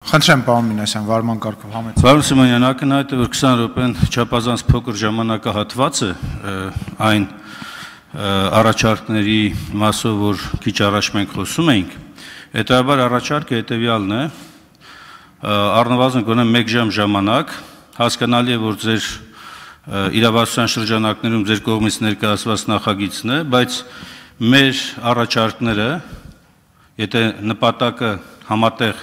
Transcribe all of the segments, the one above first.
Խնդրեմ, պարոն Մինասյան, վարման կարգով համեցեք։ Պարոն Սիմոնյան, ակնհայտ է, որ 20 րոպեն չափազանց փոքր ժամանակահատված է այն առաջարկների մասով, որ քիչ առաջ մենք խոսում էինք, հետևաբար առաջարկը հետևյալն է, առնվազն գոնե 1 ժամ ժամանակ, հասկանալի է, որ ձեր իրավասության շրջանակներում ձեր կողմից ներկայացված նախագիծն է, բայց մեր առաջարկները, եթե նպատակը համատեղ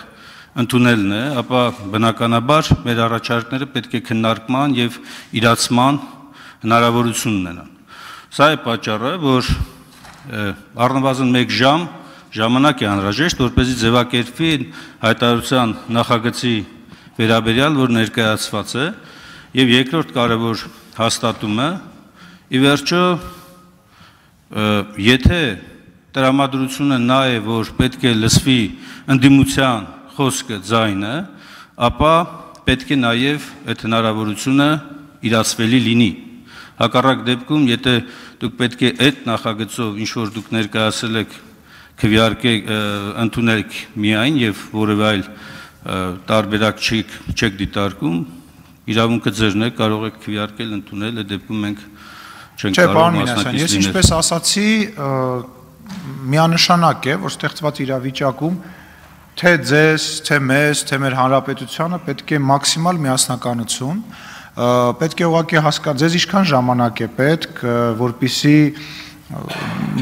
ընդունելն է, ապա բնականաբար մեր առաջարկները պետք է քննարկման եւ իրացման հնարավորություն ունենան։ Սա է պատճառը, որ առնվազն 1 ժամ ժամանակ է անհրաժեշտ, որպեսզի ձևակերպվի հայտարարության նախագծի վերաբերյալ, որ ներկայացված է, եւ երկրորդ կարևոր հաստատումը, ի վերջո, եթե տրամադրությունը նա է, որ պետք է լսվի ընդդիմության խոսքը ձայնը, ապա պետք է նաև այդ հնարավորությունը իրացվելի լինի։ Հակառակ դեպքում, եթե դուք պետք է այդ նախագծով, ինչ որ դուք ներկայացել եք, քվեարկեք, ընդունեք միայն եւ որևէ այլ տարբերակ չեք դիտարկում, իրավունքը ձերն է, կարող եք քվեարկել, ընդունել, այդ դեպքում մենք չենք կարող մասնակից լինել։ Ես ինչպես ասացի, միանշանակ է, որ ստեղծված իրավիճակում թե ձեզ, թե մեզ, թե մեր հանրապետությանը պետք է մաքսիմալ միասնականություն, պետք է ուղղակի հասկանալ, ձեզ ինչքան ժամանակ է պետք, որպեսզի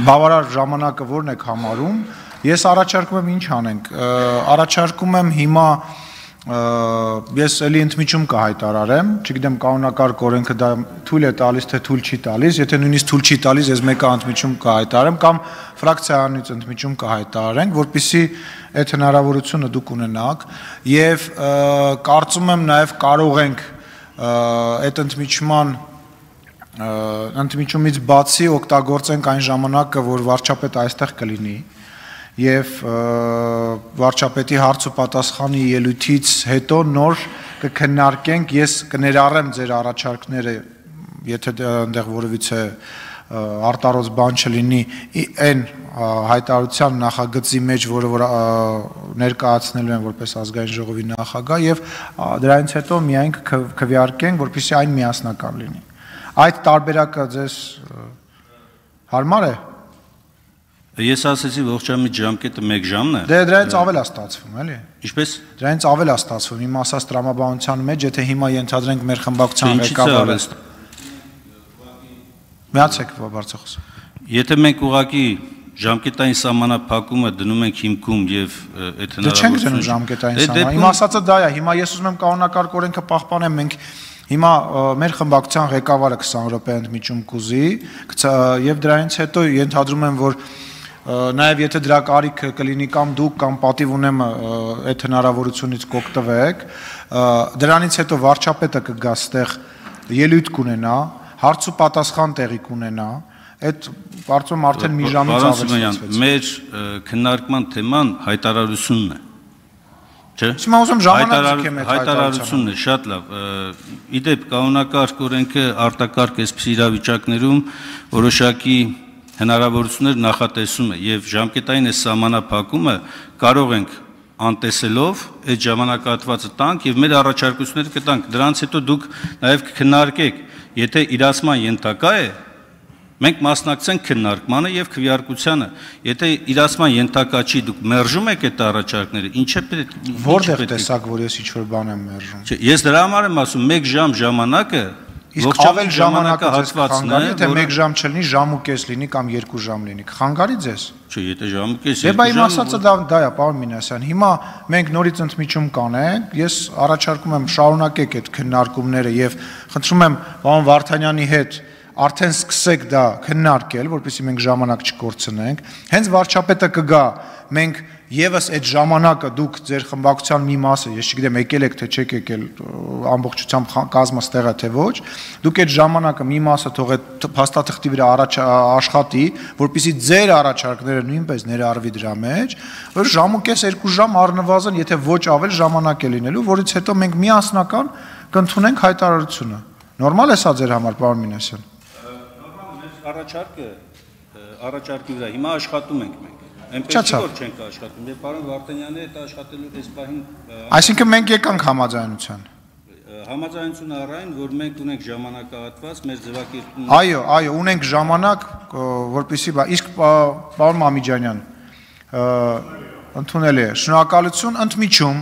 բավարար ժամանակը որն եք համարում, ես առաջարկում եմ ինչ անենք, առաջարկում եմ հիմա ես էլի ընդմիջում կհայտարարեմ, չգիտեմ կանոնակարգ օրենքը դա թույլ է տալիս, թե թույլ չի տալիս, եթե նույնիսկ թույլ չի տալիս, ես մեկը ընդմիջում կհայտարարեմ կամ ֆրակցիայանից ընդմիջում կհայտարարենք, որպեսզի այդ հնարավորությունը դուք ունենաք եւ կարծում եմ նաեւ կարող ենք այդ ընդմիջումից բացի օգտագործենք այն ժամանակը, որ վարչապետը այստեղ կլինի եւ վարչապետի հարց ու պատասխանի ելույթից հետո նոր կքննարկենք, ես կներառեմ ձեր առաջարկները, եթե այնտեղ որևիցե արտարոց բան չլինի, այն հայտարարության նախագծի մեջ, որը որ ներկայացնելու են որպես ազգային ժողովի նախագահ եւ դրանից հետո միայն քվեարկենք, որպեսզի այն միասնական լինի։ Այդ տարբերակը ձեզ հարմար է։ Ես ասեցի ողջամիտ ժամկետը 1 ժամն է։ Դե դրանից ավել է ստացվում, էլի։ Ինչպես։ Դրանից ավել է ստացվում, իմ ասած տրամաբանության մեջ, եթե հիմա ենթադրենք մեր խմբակցության ղեկավարը։ Միացեք բարձրախոս։ Եթե մենք ուղղակի ժամկետային սահմանափակումը դնում ենք հիմքում եւ այդ հնարավորությունը։ Դե չենք դնում ժամկետային սահման։ Իմ ասածը դա է, հիմա ես ուզում եմ կանոնակարգ օրենքը պահպանեմ, մենք հիմա մեր խմբակցության ղեկավարը 20 րոպե ընդմիջում կուզի եւ դրանից հետո ենթադրում եմ, որ նաև եթե դրա կարիքը կլինի կամ դուք կամ պատիվ ունեմ այդ հնարավորությունից կօգտվեք, դրանից հետո վարչապետը կգա ստեղ ելույթ կունենա, հարց ու պատասխան տեղի կունենա, այդ կարծում եմ արդեն մի ժամից ավել ստացվեց։ Մեր քննարկման թեման հայտարարությունն է։ Չէ՞։ Հիմա ուզում ժամանակ ձգեմ այդ հայտարարությունն է, շատ լավ։ Իդեպ կանոնակարգ օրենքը արտակարգ այսպիսի իրավիճակներում որոշակի հնարավորություններ նախատեսում է եւ ժամկետային այս սահմանափակումը կարող ենք անտեսելով այդ ժամանակահատվածը տանք եւ մեր առաջարկությունները կտանք, դրանից հետո դուք նաեւ կքննարկեք, եթե իրացման ենթակա է, մենք մասնակցենք քննարկմանը եւ քվեարկությանը, եթե իրացման ենթակա չի, դուք մերժում եք այդ առաջարկները, ինչ է պետք։ Որտեղ տեսակ, որ ես ինչ-որ բան եմ մերժում։ Չէ, ես դրա համար եմ ասում 1 ժամ ժամանակը իսկ ավել ժամանակը հատվածն է, թե 1 ժամ չլինի, ժամ ու կես լինի կամ 2 ժամ լինի, կխանգարի ձեզ։ Չէ, եթե ժամ ու կես։ Դե բա իմ ասածը դա է, պարոն Մինասյան։ Հիմա մենք նորից ընդմիջում կանենք, ես առաջարկում եմ շարունակեք այդ քննարկումները եւ խնդրում եմ պարոն Վարդանյանի հետ արդեն սկսեք դա քննարկել, որպեսզի մենք ժամանակ չկորցնենք։ Հենց վարչապետը կգա, մենք եւս այդ ժամանակը դուք ձեր խմբակցության մի մասը, ես չգիտեմ, եկել եք թե չեք եկել, ամբողջությամբ կազմը ստեղ է թե ոչ, դուք այդ ժամանակը մի մասը թող այդ փաստաթղթի վրա աշխատի, որպեսզի ձեր առաջարկները նույնպես ներառվի դրա մեջ, որ ժամ ու կես 2 ժամ առնվազն, եթե ոչ ավել ժամանակ է լինելու, որից հետո մենք միասնական կընդունենք հայտարարությունը։ Նորմալ է սա ձեր համար, պարոն Մինասյան։ Նորմալ է, առաջարկի վրա հիմա աշխատում ենք մենք։ Այնպես որ չենք աշխատում, եւ պարոն Վարդանյանի հետ աշխատելու այս պահին Այսինքն մենք եկանք համաձայնության։ Համաձայնություն առայն, որ մենք ունենք ժամանակահատված մեր ձևակերպումն Այո, ունենք ժամանակ, որպեսզի իսկ պարոն Մամիջանյան ընդունել է։ Շնորհակալություն, ընդմիջում